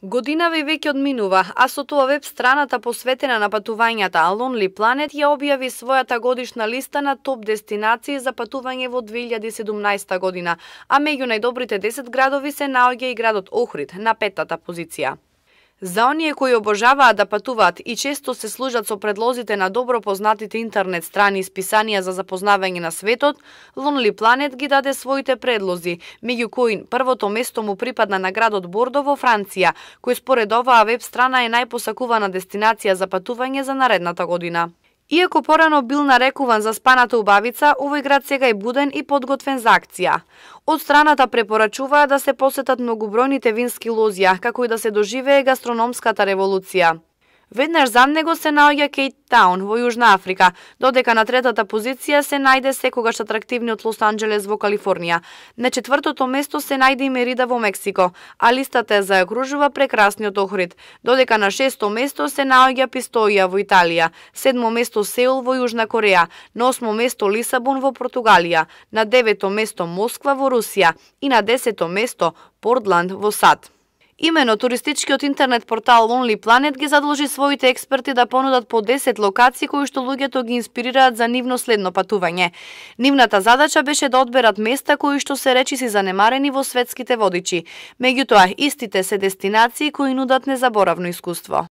Годинава и веќе одминува, а со тоа веб страната посветена на патувањата Lonely Planet ја објави својата годишна листа на топ дестинации за патување во 2017 година, а меѓу најдобрите 10 градови се наоѓа и градот Охрид на 5-та позиција. За оние кои обожаваат да патуваат и често се служат со предлозите на добро познатите интернет страни и списанија за запознавање на светот, Lonely Planet ги даде своите предлози, меѓу кои првото место му припадна на градот Бордо во Франција, кој според оваа веб страна е најпосакувана дестинација за патување за наредната година. Иако порано бил нарекуван за спаната убавица, овој град сега е буден и подготвен за акција. Од страната препорачуваа да се посетат многобројните вински лозија, како и да се доживее гастрономската револуција. Веднаш за него се наоѓа Кейптаун во Јужна Африка, додека на 3-та позиција се најде секогаш атрактивниот Лос Анџелес во Калифорнија. На 4-то место се најде и Мерида во Мексико, а листата ја заокружува прекрасниот Охрид, додека на 6-то место се наоѓа Пистоја во Италија, 7-мо место Сеул во Јужна Кореја, на 8-мо место Лисабон во Португалија, на 9-то место Москва во Русија и на 10-то место Портланд во САД. Имено туристичкиот интернет портал Lonely Planet ги задолжи своите експерти да понудат по 10 локации кои што луѓето ги инспирираат за нивно следно патување. Нивната задача беше да одберат места кои што се речиси занемарени во светските водичи. Меѓутоа, истите се дестинации кои нудат незаборавно искуство.